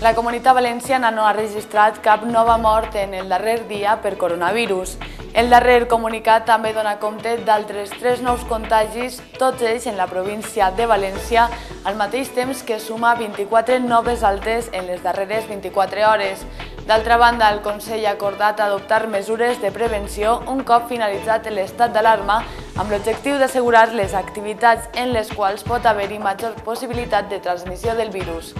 La Comunitat Valenciana no ha registrat cap nova mort en el darrer dia per coronavirus. El darrer comunicat també dona compte d'altres 3 nous contagis, tots ells en la província de València, al mateix temps que suma 24 noves altes en les darreres 24 hores. D'altra banda, el Consell ha acordat adoptar mesures de prevenció un cop finalitzat l'estat d'alarma amb l'objectiu d'assegurar les activitats en les quals pot haver-hi major possibilitat de transmissió del virus.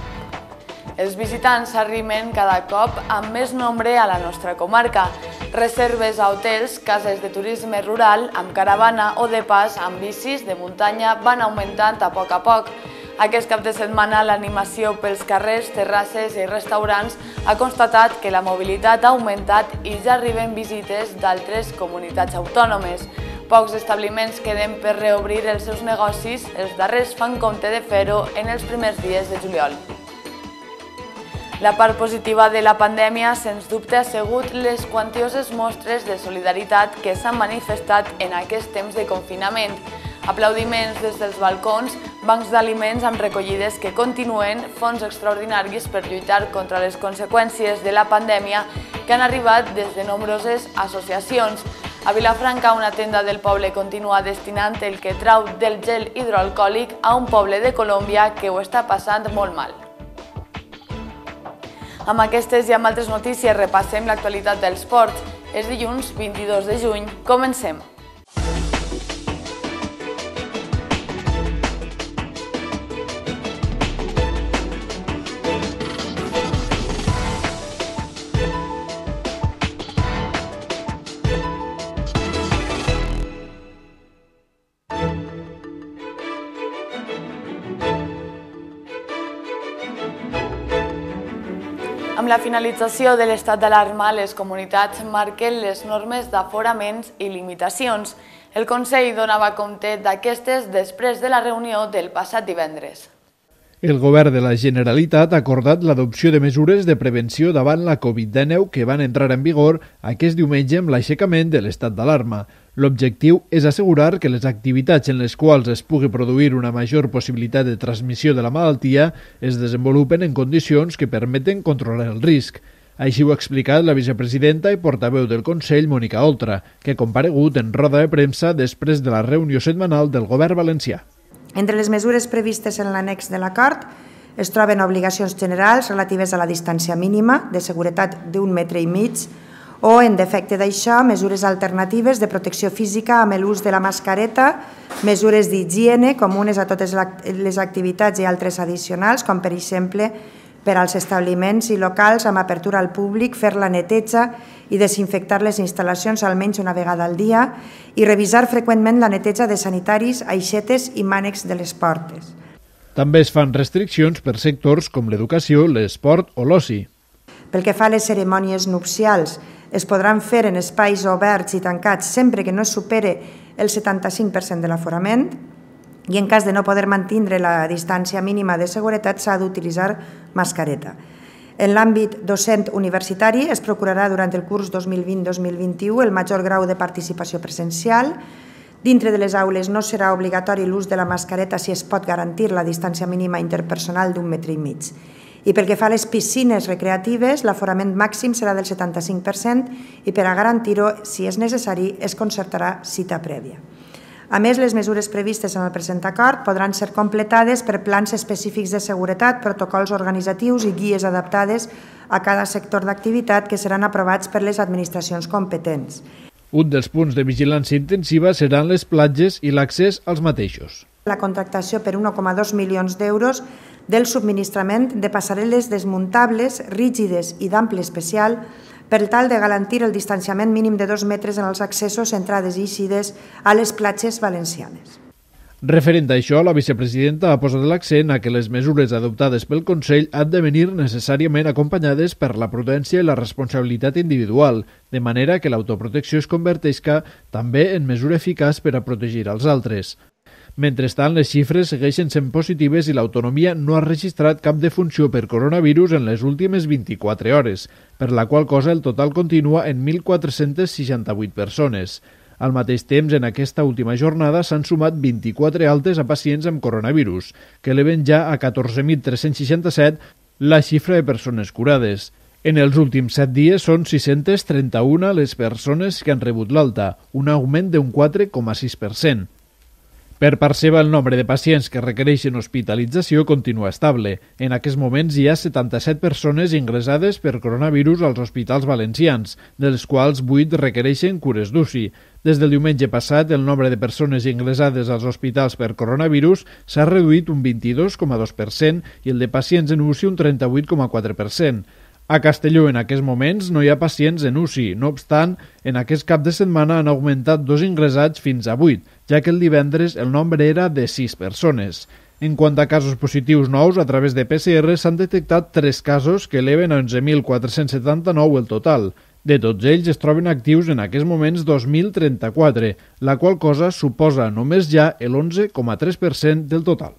Els visitants arriben cada cop amb més nombre a la nostra comarca. Reserves a hotels, cases de turisme rural, amb caravana o de pas amb bicis de muntanya van augmentant a poc. Aquest cap de setmana l'animació pels carrers, terrasses i restaurants ha constatat que la mobilitat ha augmentat i ja arriben visites d'altres comunitats autònomes. Pocs establiments queden per reobrir els seus negocis, els darrers fan compte de fer-ho en els primers dies de juliol. La part positiva de la pandèmia, sens dubte, ha sigut les quantioses mostres de solidaritat que s'han manifestat en aquest temps de confinament. Aplaudiments des dels balcons, bancs d'aliments amb recollides que continuen, fons extraordinaris per lluitar contra les conseqüències de la pandèmia que han arribat des de nombroses associacions. A Vilafranca, una tenda del poble continua destinant el que trau del gel hidroalcohòlic a un poble de Colòmbia que ho està passant molt mal. Amb aquestes i amb altres notícies repassem l'actualitat dels esports. És dilluns 22 de juny. Comencem. Amb la finalització de l'estat d'alarma, les comunitats marquen les normes d'aforaments i limitacions. El Consell donava compte d'aquestes després de la reunió del passat divendres. El govern de la Generalitat ha acordat l'adopció de mesures de prevenció davant la Covid-19 que van entrar en vigor aquest diumenge amb l'aixecament de l'estat d'alarma. L'objectiu és assegurar que les activitats en les quals es pugui produir una major possibilitat de transmissió de la malaltia es desenvolupen en condicions que permeten controlar el risc. Així ho ha explicat la vicepresidenta i portaveu del Consell, Mònica Oltra, que ha comparegut en roda de premsa després de la reunió setmanal del govern valencià. Entre les mesures previstes en l'annex de l'acord es troben obligacions generals relatives a la distància mínima de seguretat d'1,5 metres o, en defecte d'això, mesures alternatives de protecció física amb l'ús de la mascareta, mesures d'higiene comunes a totes les activitats i altres addicionals, com per exemple per als establiments i locals amb apertura al públic, fer la neteja i desinfectar les instal·lacions almenys una vegada al dia i revisar freqüentment la neteja de sanitaris, aixetes i mànecs de les portes. També es fan restriccions per sectors com l'educació, l'esport o l'oci. Pel que fa a les cerimònies nupcials, es podran fer en espais oberts i tancats sempre que no es supere el 75% de l'aforament i en cas de no poder mantenir la distància mínima de seguretat s'ha d'utilitzar mascareta. En l'àmbit docent universitari es procurarà durant el curs 2020-2021 el major grau de participació presencial. Dintre de les aules no serà obligatori l'ús de la mascareta si es pot garantir la distància mínima interpersonal d'1,5 metres. I pel que fa a les piscines recreatives, l'aforament màxim serà del 75% i per a garantir-ho, si és necessari, es concertarà cita prèvia. A més, les mesures previstes en el present acord podran ser completades per plans específics de seguretat, protocols organitzatius i guies adaptades a cada sector d'activitat que seran aprovats per les administracions competents. Un dels punts de vigilància intensiva seran les platges i l'accés als mateixos. La contractació per 1,2 milions d'euros del subministrament de passarel·les desmuntables, rígides i d'ample especial per tal de garantir el distanciament mínim de 2 metres en els accessos, entrades i eixides a les platges valencianes. Referent a això, la vicepresidenta ha posat l'accent a que les mesures adoptades pel Consell han de venir necessàriament acompanyades per la prudència i la responsabilitat individual, de manera que l'autoprotecció es converteixi també en mesura eficaç per a protegir els altres. Mentrestant, les xifres segueixen sent positives i l'autonomia no ha registrat cap defunció per coronavirus en les últimes 24 hores, per la qual cosa el total continua en 1.468 persones. Al mateix temps, en aquesta última jornada s'han sumat 24 altes a pacients amb coronavirus, que eleven ja a 14.367 la xifra de persones curades. En els últims 7 dies són 631 les persones que han rebut l'alta, un augment d'un 4,6%. Per part seva, el nombre de pacients que requereixen hospitalització continua estable. En aquests moments hi ha 77 persones ingressades per coronavirus als hospitals valencians, dels quals 8 requereixen cures d'UCI. Des del diumenge passat, el nombre de persones ingressades als hospitals per coronavirus s'ha reduït un 22,2% i el de pacients en UCI un 38,4%. A Castelló, en aquests moments, no hi ha pacients en UCI. No obstant, en aquest cap de setmana han augmentat 2 ingressats fins a 8, ja que el divendres el nombre era de 6 persones. En quant a casos positius nous, a través de PCR s'han detectat 3 casos que eleven a 11.479 el total. De tots ells es troben actius en aquests moments 2.034, la qual cosa suposa només ja el 11,3% del total.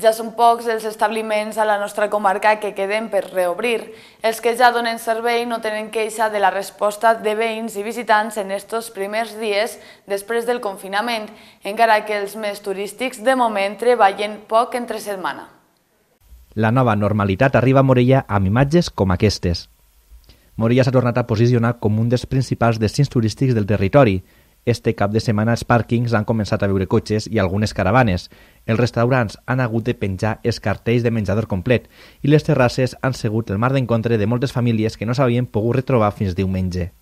Ja són pocs els establiments a la nostra comarca que queden per reobrir. Els que ja donen servei no tenen queixa de la resposta de veïns i visitants en estos primers dies després del confinament, encara que els més turístics de moment treballen poc entre setmana. La nova normalitat arriba a Morella amb imatges com aquestes. Morella s'ha tornat a posicionar com un dels principals destins turístics del territori. Este cap de setmana els pàrquings han començat a veure cotxes i algunes caravanes. Els restaurants han hagut de penjar els cartells de menjador complet i les terrasses han sigut el mar d'encontre de moltes famílies que no s'havien pogut retrobar fins diumenge.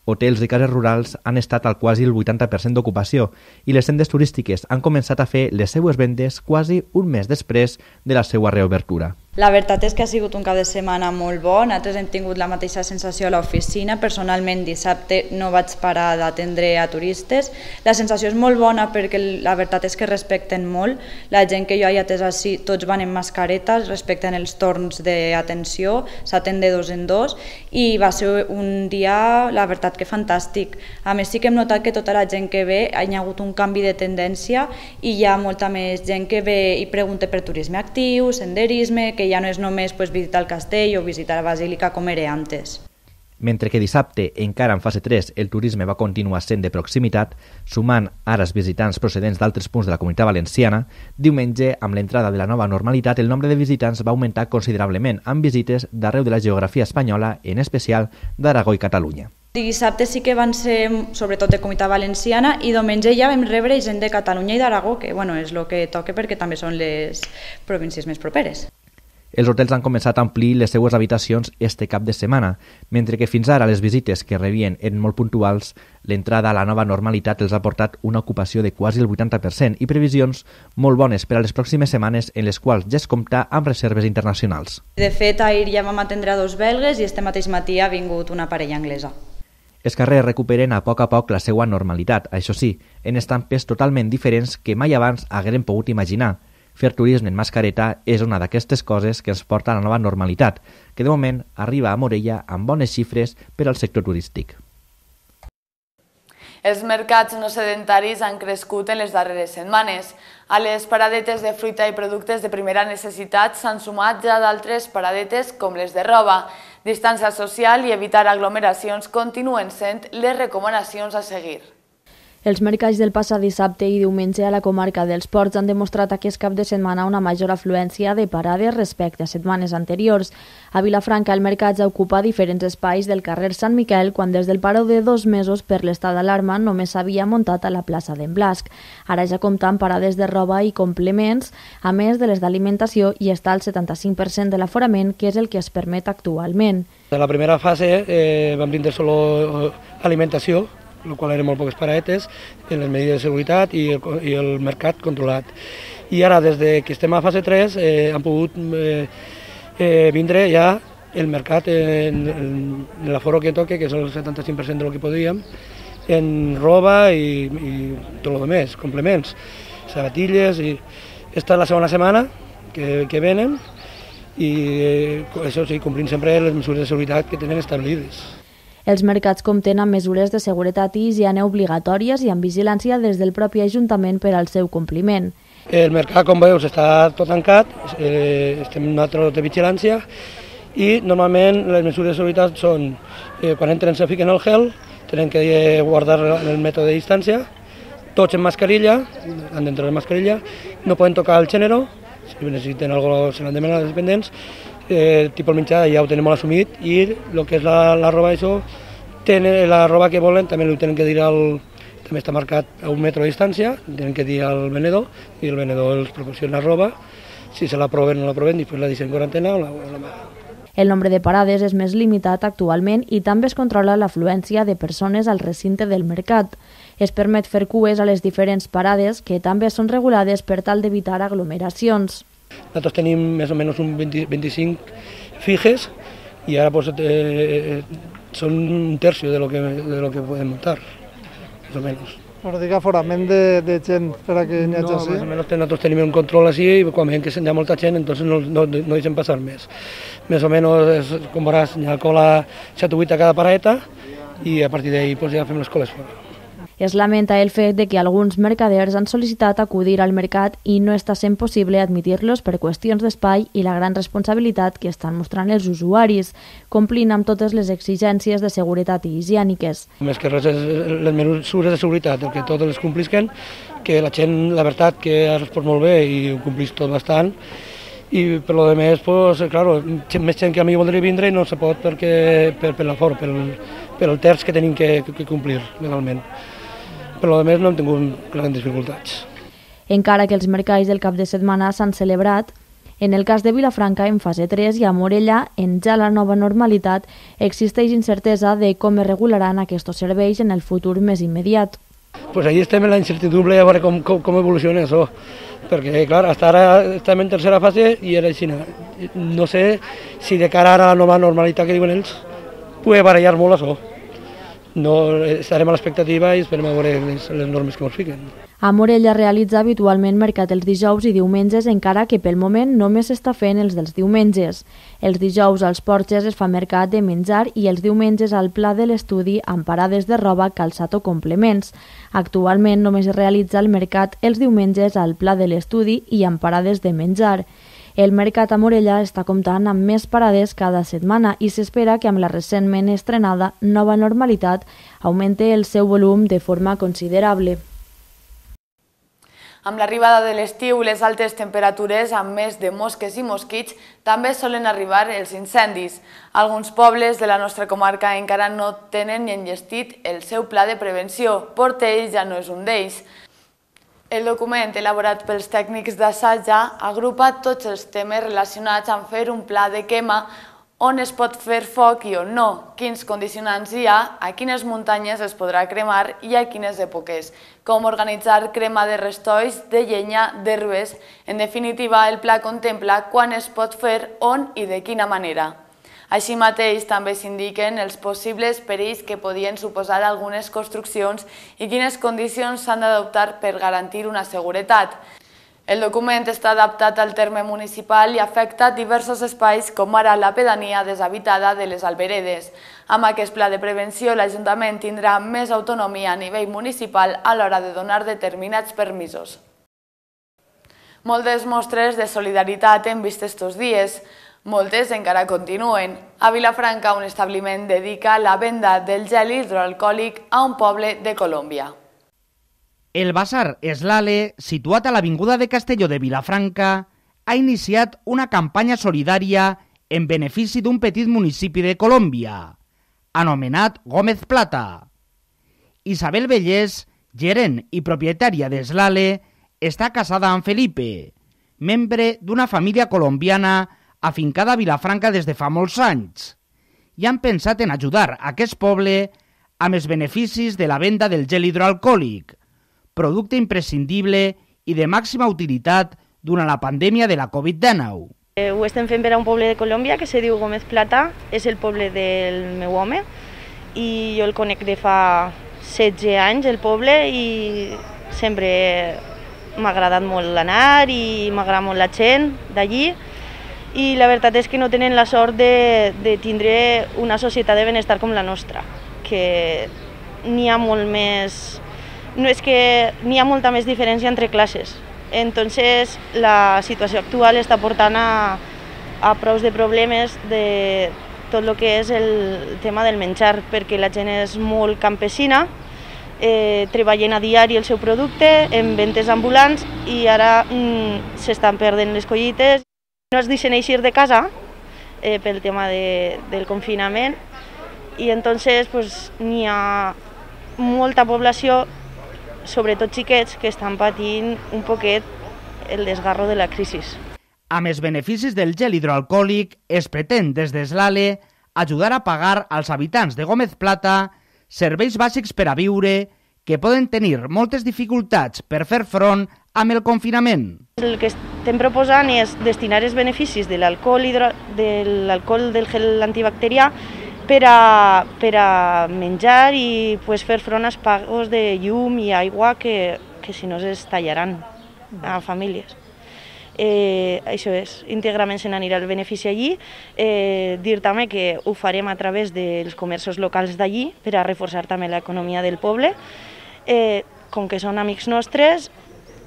Hotels i cases rurals han estat al quasi el 80% d'ocupació i les tendes turístiques han començat a fer les seues vendes quasi un mes després de la seva reobertura. La veritat és que ha sigut un cap de setmana molt bo, nosaltres hem tingut la mateixa sensació a l'oficina, personalment dissabte no vaig parar d'atendre a turistes. La sensació és molt bona perquè la veritat és que respecten molt, la gent que jo he atès així, tots van en mascaretes, respecten els torns d'atenció, s'atén de 2 en 2 i va ser un dia, la veritat que fantàstic. A més sí que hem notat que tota la gent que ve hi ha hagut un canvi de tendència i hi ha molta més gent que ve i pregunta per turisme actiu, senderisme, que ja no és només visitar el castell o visitar la basílica com era antes. Mentre que dissabte, encara en fase 3, el turisme va continuar sent de proximitat, sumant ara els visitants procedents d'altres punts de la Comunitat Valenciana, diumenge, amb l'entrada de la nova normalitat, el nombre de visitants va augmentar considerablement, amb visites d'arreu de la geografia espanyola, en especial d'Aragó i Catalunya. Dissabte sí que van ser sobretot de Comunitat Valenciana i diumenge ja vam rebre gent de Catalunya i d'Aragó, que és el que toca perquè també són les províncies més properes. Els hotels han començat a omplir les seues habitacions este cap de setmana, mentre que fins ara les visites que rebien eren molt puntuals, l'entrada a la nova normalitat els ha portat una ocupació de quasi el 80% i previsions molt bones per a les pròximes setmanes en les quals ja es compta amb reserves internacionals. De fet, ahir ja vam atendre a 2 belgues i este mateix matí ha vingut una parella anglesa. Els carrers recuperen a poc la seva normalitat, això sí, en estampes totalment diferents que mai abans hagueren pogut imaginar. Fer turisme en mascareta és una d'aquestes coses que ens porta a la nova normalitat, que de moment arriba a Morella amb bones xifres per al sector turístic. Els mercats no sedentaris han crescut en les darreres setmanes. A les paradetes de fruita i productes de primera necessitat s'han sumat ja d'altres paradetes com les de roba. Distància social i evitar aglomeracions continuen sent les recomanacions a seguir. Els mercats del passat dissabte i diumenge a la comarca dels Ports han demostrat aquest cap de setmana una major afluència de parades respecte a setmanes anteriors. A Vilafranca el mercat ja ocupa diferents espais del carrer Sant Miquel quan des del paró de 2 mesos per l'estat d'alarma només s'havia muntat a la plaça d'en Blasc. Ara ja compta amb parades de roba i complements, a més de les d'alimentació i està al 75% de l'aforament, que és el que es permet actualment. En la primera fase vam brindar solo alimentació, el qual eren molt poques paradetes, en les medides de seguretat i el mercat controlat. I ara, des que estem a fase 3, han pogut vindre ja el mercat en l'aforo que toca, que és el 75% del que podíem, en roba i tot el més, complements, sabatilles. Esta és la segona setmana que venen i això sí, complint sempre les mesures de seguretat que tenen establides. Els mercats compten amb mesures de seguretat i higiene obligatòries i amb vigilància des del propi Ajuntament per al seu compliment. El mercat, com veus, està tot tancat, estem en altres de vigilància i normalment les mesures de seguretat són quan entren se fiquen el gel, tenen que guardar el mètode de distància, tots en mascarilla, han d'entrar en mascarilla, no poden tocar el gènere, Si necessiten alguna cosa, se l'han demanat als dependents, tipus el menjar ja ho tenim molt assumit i el que és la roba, això, la roba que volen també ho tenen que dir també està marcat a 1 metro de distància, tenen que dir al venedor i el venedor els proporciona roba, si se l'aproven o no l'aproven, després la deixen en quarantena o la El nombre de parades és més limitat actualment i també es controla l'afluència de persones al recinte del mercat. Es permet fer cues a les diferents parades que també són regulades per tal d'evitar aglomeracions. Nosaltres tenim més o menys un 25 fijes i ara pues, són un tercio de lo que podem muntar, més o menys. Però dic aforament de gent per a que n'hi hagi així? No, més o menys nosaltres tenim un control així i quan veiem que hi ha molta gent entonces no deixem passar més. Més o menys, com veuràs, hi ha cola 7 o 8 a cada paradeta i a partir d'ahí pues, ja fem les coles fora. Es lamenta el fet de que alguns mercaders han sol·licitat acudir al mercat i no està sent possible admitir-los per qüestions d'espai i la gran responsabilitat que estan mostrant els usuaris, complint amb totes les exigències de seguretat i higièniques. Més que res, les mesures de seguretat, el que totes les complisquen, que la gent, la veritat, que ha respost molt bé i ho complís tot bastant, i per lo demés, pues, claro, més gent que a mi voldria vindre i no se pot perquè per l'aforo, per el terç que tenim que complir legalment. Per lo demés no hem tingut grans dificultats. Encara que els mercats del cap de setmana s'han celebrat, en el cas de Vilafranca en fase 3 i a Morella, en ja la nova normalitat, existeix incertesa de com es regularan aquests serveis en el futur més immediat. Pues ahí estem en la incertidumbre a veure com evoluciona això, perquè clar, hasta ara estem en tercera fase i era així. No sé si de cara a la nova normalitat que diuen ells pugui barallar molt això. No, estarem a l'expectativa i esperem a veure les normes que ens fiquen. A Morella realitza habitualment mercat els dijous i diumenges, encara que pel moment només s'està fent els dels diumenges. Els dijous als Porxes es fa mercat de menjar i els diumenges al Pla de l'Estudi amb parades de roba, calçat o complements. Actualment només es realitza el mercat els diumenges al Pla de l'Estudi i amb parades de menjar. El mercat a Morella està comptant amb més parades cada setmana i s'espera que amb la recentment estrenada nova normalitat augmente el seu volum de forma considerable. Amb l'arribada de l'estiu, les altes temperatures amb més de mosques i mosquits també solen arribar els incendis. Alguns pobles de la nostra comarca encara no tenen ni enllestit el seu pla de prevenció. Portell ja no és un d'ells. El document elaborat pels tècnics d'Assaja agrupa tots els temes relacionats amb fer un pla de quema, on es pot fer foc i on no, quins condicionants hi ha, a quines muntanyes es podrà cremar i a quines èpoques, com organitzar crema de restolls, de llenya, d'herbes. En definitiva, el pla contempla quan es pot fer, on i de quina manera. Així mateix també s'indiquen els possibles perills que podien suposar algunes construccions i quines condicions s'han d'adoptar per garantir una seguretat. El document està adaptat al terme municipal i afecta diversos espais com ara la pedania deshabitada de les Alberedes. Amb aquest pla de prevenció, l'Ajuntament tindrà més autonomia a nivell municipal a l'hora de donar determinats permisos. Moltes mostres de solidaritat hem vist estos dies. Moltes encara continuen. A Vilafranca, un establiment dedica la venda del gel hidroalcohòlic a un poble de Colòmbia. El Bazar Eslale, situat a l'Avinguda de Castelló de Vilafranca, ha iniciat una campanya solidària en benefici d'un petit municipi de Colòmbia, anomenat Gómez Plata. Isabel Vellés, gerent i propietària d'Eslale, està casada amb Felipe, membre d'una família colombiana afincada a Vilafranca des de fa molts anys, i han pensat en ajudar aquest poble amb els beneficis de la venda del gel hidroalcohòlic, producte imprescindible i de màxima utilitat durant la pandèmia de la Covid-19. Ho estem fent per a un poble de Colòmbia que se diu Gómez Plata, és el poble del meu home, i jo el conec de fa 16 anys, el poble, i sempre m'ha agradat molt anar i m'agrada molt la gent d'allí. I la veritat és que no tenen la sort de tindre una societat de benestar com la nostra, que n'hi ha molt més... No és que n'hi ha molta més diferència entre classes. Entonces, la situació actual està portant a prous de problemes de tot el que és el tema del menjar, perquè la gent és molt campesina treballen a diari el seu producte en ventes ambulants i ara s'estan perdent les collites. No es deixen eixir de casa pel tema del confinament i entonces pues, n'hi ha molta població, sobretot xiquets, que estan patint un poquet el desgarro de la crisi. Amb els beneficis del gel hidroalcohòlic, es pretén des d'Eslale ajudar a pagar als habitants de Gómez Plata serveis bàsics per a viure que poden tenir moltes dificultats per fer front amb el confinament. El que estem proposant és destinar els beneficis de l'alcohol del gel antibacterià per a menjar i fer front als pagos de llum i aigua que si no es tallaran a famílies. Això és, íntegrament se n'anirà el benefici allí. Dir també que ho farem a través dels comerços locals d'allí per a reforçar també l'economia del poble. Com que són amics nostres,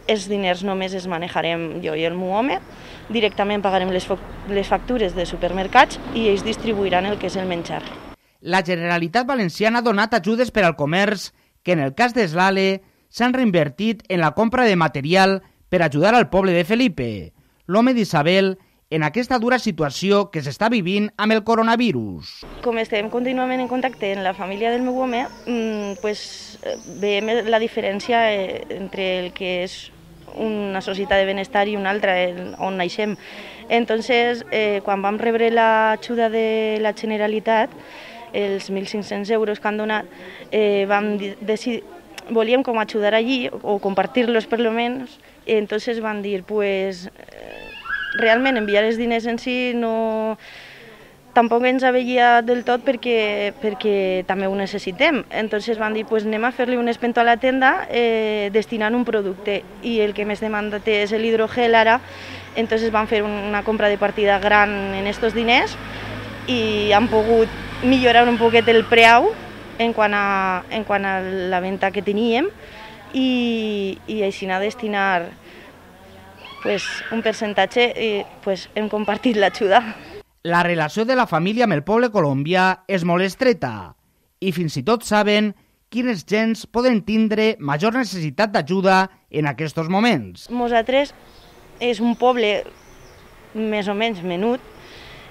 els diners només els manejarem jo i el meu home, directament pagarem les factures de supermercats i ells distribuiran el que és el menjar. La Generalitat Valenciana ha donat ajudes per al comerç que en el cas d'Eslale s'han reinvertit en la compra de material per ajudar al poble de Felipe, l'home d'Isabel, en aquesta dura situació que s'està vivint amb el coronavirus. Com estem contínuament en contacte amb la família del meu home, veiem la diferència entre el que és una societat de benestar i una altra, on naixem. Entonces, quan vam rebre l'ajuda de la Generalitat, els 1.500 euros que han donat, vam decidir, volíem com ajudar allí, o compartir-los per lo menos, i entonces van dir, pues, realment enviar els diners en si no... tampoc ens aveia del tot perquè també ho necessitem. Entonces van dir, pues anem a fer-li un espento a la tenda destinant un producte i el que més demandat és l'hidrogel ara, entonces van fer una compra de partida gran en estos diners i han pogut millorar un poquet el preu en quant a la venda que teníem i així anar a destinar un percentatge i hem compartit l'ajuda. La relació de la família amb el poble colombià és molt estreta i fins i tot saben quines gens poden tindre major necessitat d'ajuda en aquests moments. Nosaltres és un poble més o menys menut,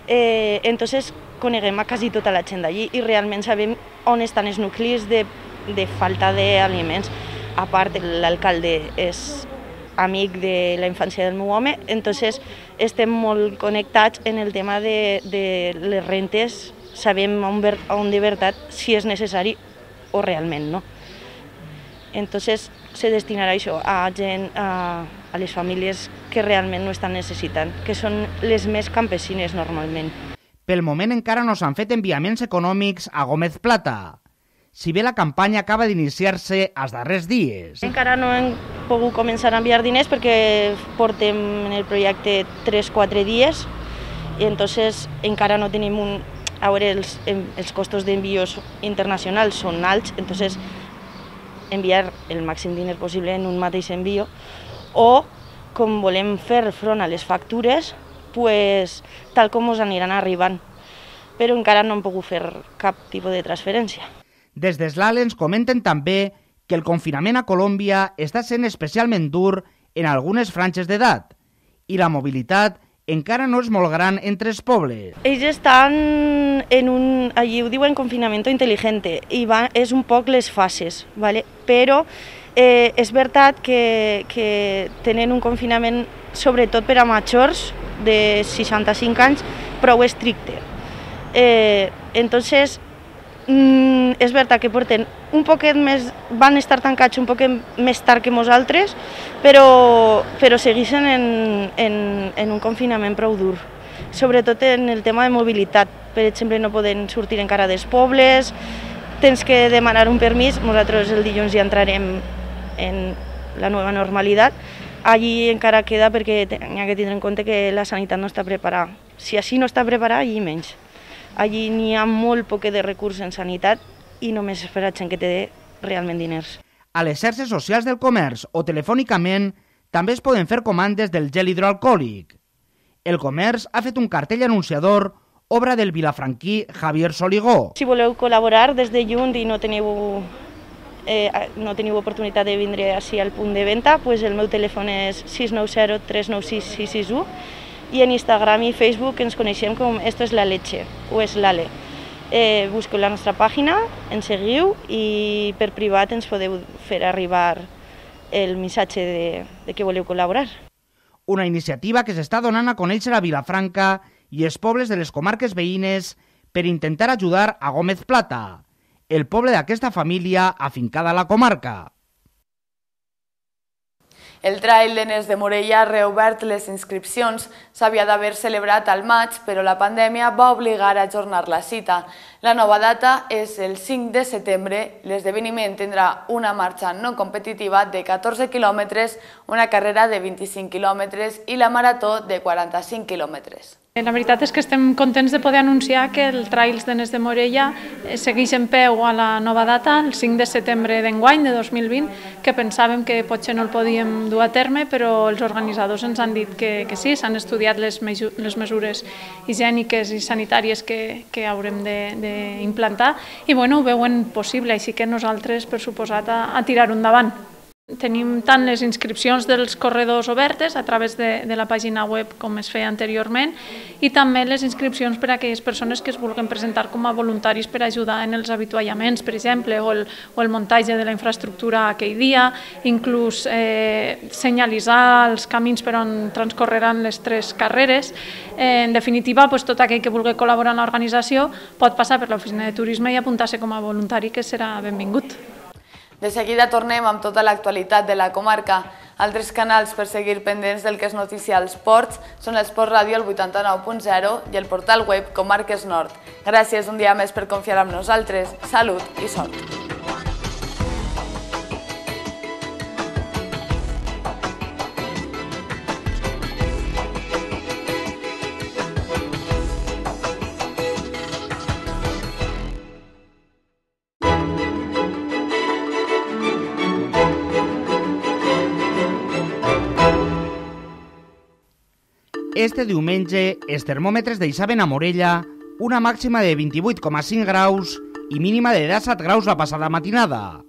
entonces coneguem a quasi tota la gent d'allí i realment sabem on estan els nuclis de falta d'aliments. A part, l'alcalde és amic de la infància del meu home, entonces estem molt connectats en el tema de les rentes, sabem on de veritat si és necessari o realment no. Entonces se destinarà això a gent, a les famílies que realment no estan necessitant, que són les més campesines normalment. Pel moment encara no s'han fet enviaments econòmics a Gómez Plata, si bé la campanya acaba d'iniciar-se els darrers dies. Encara no hem pogut començar a enviar diners perquè portem en el projecte 3-4 dies i entonces encara no tenim A veure, els costos d'envios internacionals són alts, entonces enviar el màxim diners possible en un mateix envio o, com volem fer front a les factures, pues, tal com ens aniran arribant, però encara no hem pogut fer cap tipus de transferència. Des d'Eslale ens comenten també que el confinament a Colòmbia està sent especialment dur en algunes franges d'edat i la mobilitat encara no és molt gran entre els pobles. Ells estan en allí ho diuen confinamiento inteligente i és un poc les fases, ¿vale? Però és veritat que tenen un confinament sobretot per a majors de 65 anys prou estricte. Entonces, és veritat que porten un poquet més, van estar tancats un poquet més tard que nosaltres, però segueixen en un confinament prou dur, sobretot en el tema de mobilitat. Per exemple, no poden sortir encara dels pobles, tens que demanar un permís, nosaltres el dilluns ja entrarem en la nova normalitat, allí encara queda perquè n'hi ha que tindre en compte que la sanitat no està preparada. Si així no està preparada, allí menys. Allí n'hi ha molt poc de recursos en sanitat i només és per a gent que té realment diners. A les xarxes socials del comerç o telefònicament també es poden fer comandes del gel hidroalcohòlic. El comerç ha fet un cartell anunciador, obra del vilafranquí Javier Soligó. Si voleu col·laborar des de lluny i no teniu no teniu oportunitat de vindre així al punt de venda, doncs el meu telèfon és 690 396 661 i en Instagram i Facebook ens coneixem com Esto es la leche o és l'ale. Busqueu la nostra pàgina, ens seguiu i per privat ens podeu fer arribar el missatge de que voleu col·laborar. Una iniciativa que s'està donant a conèixer a Vilafranca i els pobles de les comarques veïnes per intentar ajudar a Gómez Plata, el poble d'aquesta família afincada a la comarca. El Trail de Nes de Morella ha reobert les inscripcions. S'havia d'haver celebrat al maig, però la pandèmia va obligar a ajornar la cita. La nova data és el 5 de setembre. L'esdeveniment tindrà una marxa no competitiva de 14 quilòmetres, una carrera de 25 quilòmetres i la marató de 45 quilòmetres. La veritat és que estem contents de poder anunciar que el Trails de Nes de Morella segueix en peu a la nova data, el 5 de setembre d'enguany, de 2020, que pensàvem que potser no el podíem dur a terme, però els organitzadors ens han dit que sí, s'han estudiat les mesures higièniques i sanitàries que haurem d'implantar i ho veuen possible, així que nosaltres, per suposat, a tirar-ho endavant. Tenim tant les inscripcions dels corredors obertes a través de la pàgina web com es feia anteriorment i també les inscripcions per a aquelles persones que es vulguin presentar com a voluntaris per ajudar en els avituallaments, per exemple, o el muntatge de la infraestructura aquell dia, inclús senyalitzar els camins per on transcorreran les 3 carreres. En definitiva, tot aquell que vulgui col·laborar en l'organització pot passar per l'oficina de turisme i apuntar-se com a voluntari, que serà benvingut. De seguida tornem amb tota l'actualitat de la comarca. Altres canals per seguir pendents del que és notícia als ports són l'Esport Ràdio, el 89.0 i el portal web Comarques Nord. Gràcies un dia més per confiar en nosaltres. Salut i sort. Este diumenge, els termòmetres deixaven a Morella una màxima de 28,5 graus i mínima de 17 graus la passada matinada.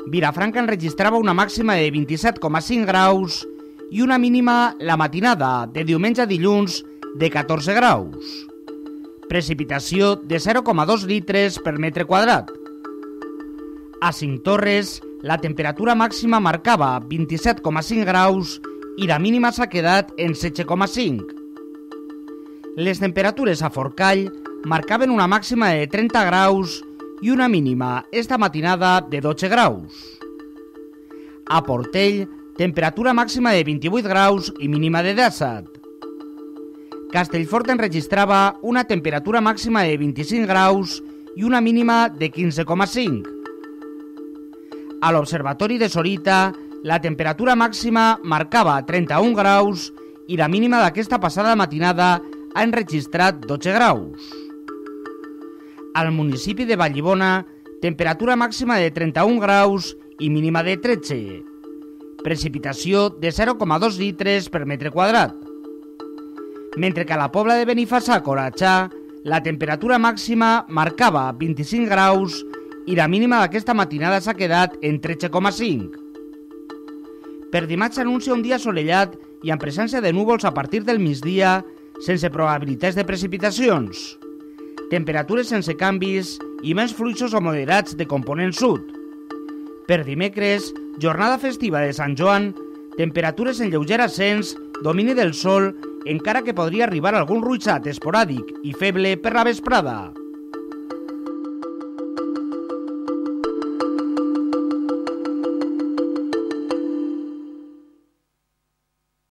Vilafranca enregistrava una màxima de 27,5 graus i una mínima la matinada de diumenge a dilluns de 14 graus. Precipitació de 0,2 litres per metre quadrat. A Cinctorres, la temperatura màxima marcava 27,5 graus i la mínima s'ha quedat en 7,5. Les temperatures a Forcall marcaven una màxima de 30 graus i una mínima esta matinada de 12 graus. A Portell, temperatura màxima de 28 graus i mínima de 17. Castellfort enregistrava una temperatura màxima de 25 graus i una mínima de 15,5. A l'Observatori de Sorita, la temperatura màxima marcava 31 graus i la mínima d'aquesta passada matinada ha enregistrat 12 graus. Al municipi de Vallibona, temperatura màxima de 31 graus i mínima de 13. Precipitació de 0,2 litres per metre quadrat. Mentre que a la Pobla de Benifassà, Coratxà, la temperatura màxima marcava 25 graus i la mínima d'aquesta matinada s'ha quedat en 13,5. Per dimarts s'anuncia un dia assolellat i amb presència de núvols a partir del migdia, sense probabilitats de precipitacions. Temperatures sense canvis i més fluixos o moderats de component sud. Per dimecres, jornada festiva de Sant Joan, temperatures en lleuger ascens, domini del sol, encara que podria arribar algun ruixat esporàdic i feble per la vesprada.